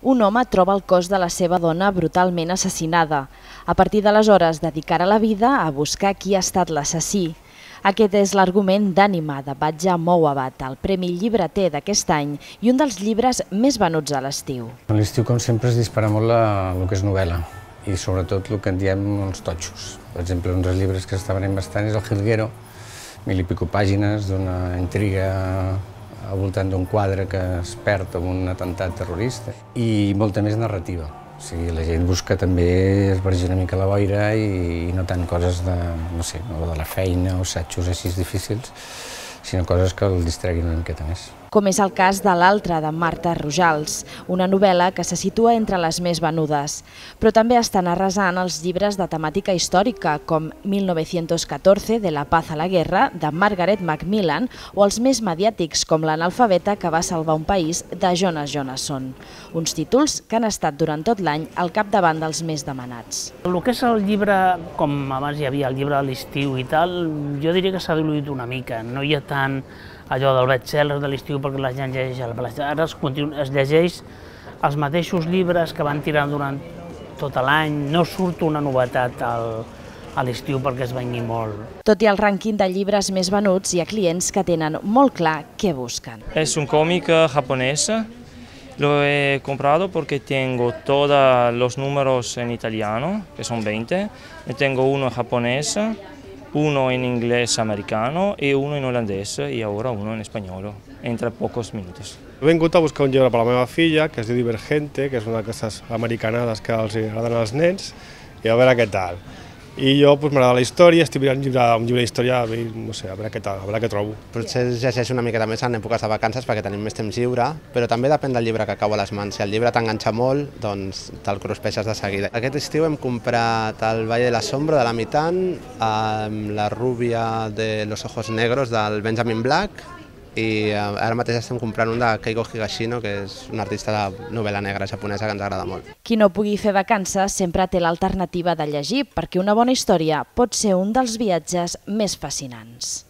Un home troba el cos de la seva dona brutalment assassinada. A partir d'aleshores dedicarà la vida a buscar qui ha estat l'assassí. Aquest és l'argument d'Ànima, de Batja Mouabat, el Premi Llibreter d'aquest any i un dels llibres més venuts a l'estiu. A l'estiu, com sempre, es dispara molt el que és novel·la i sobretot el que en diem els totxos. Per exemple, un dels llibres que s'està venent bastant és El Jilguero, 1000 i pico pàgines d'una intriga al voltant d'un quadre que es perd amb un atemptat terrorista i molta més narrativa. O sigui, la gent busca també esbargir una mica la boira i no tant coses de, no sé, de la feina o assajos així difícils, sinó coses que el distreguin una miqueta més. Com és el cas de L'altre, de Marta Rojals, una novel·la que se situa entre les més venudes. Però també estan arrasant els llibres de temàtica històrica, com 1914, de La paz a la guerra, de Margaret Macmillan, o els més mediàtics, com L'analfabeta que va salvar un país, de Jonas Jonasson. Uns títols que han estat durant tot l'any al capdavant dels més demanats. El que és el llibre, com abans hi havia el llibre de l'estiu i tal, jo diria que s'ha diluït una mica. No hi ha tant allò del best-seller de l'estiu perquè la gent llegeix el best-seller. Ara es llegeix els mateixos llibres que van tirant durant tot l'any. No surt una novetat a l'estiu perquè es vengui molt. Tot i el rànquing de llibres més venuts, hi ha clients que tenen molt clar què busquen. Es un cómic japonés. Lo he comprado porque tengo todos los números en italiano, que son 20. Y tengo uno en japonés, uno en inglés americano y uno en holandés y ahora uno en español, entre pocos minutos. He vingut a buscar un llibre per a la meva filla, que es diu Divergente, que és una d'aquestes americanades que els agraden als nens, i a veure què tal. I jo m'agrada la història, estic mirant un llibre d'història, no sé, a veure què tal, a veure què trobo. Potser es llegeix una miqueta més en èpoques de vacances perquè tenim més temps lliure, però també depèn del llibre que cau a les mans. Si el llibre t'enganxa molt, doncs te'l cruspeixes de seguida. Aquest estiu hem comprat El Valle de la Sombra, de la Mitan, La rubia de los ojos negros, del Benjamin Black, i ara mateix estem comprant un de Keigo Higashino, que és un artista de novel·la negra japonesa que ens agrada molt. Qui no pugui fer vacances sempre té l'alternativa de llegir, perquè una bona història pot ser un dels viatges més fascinants.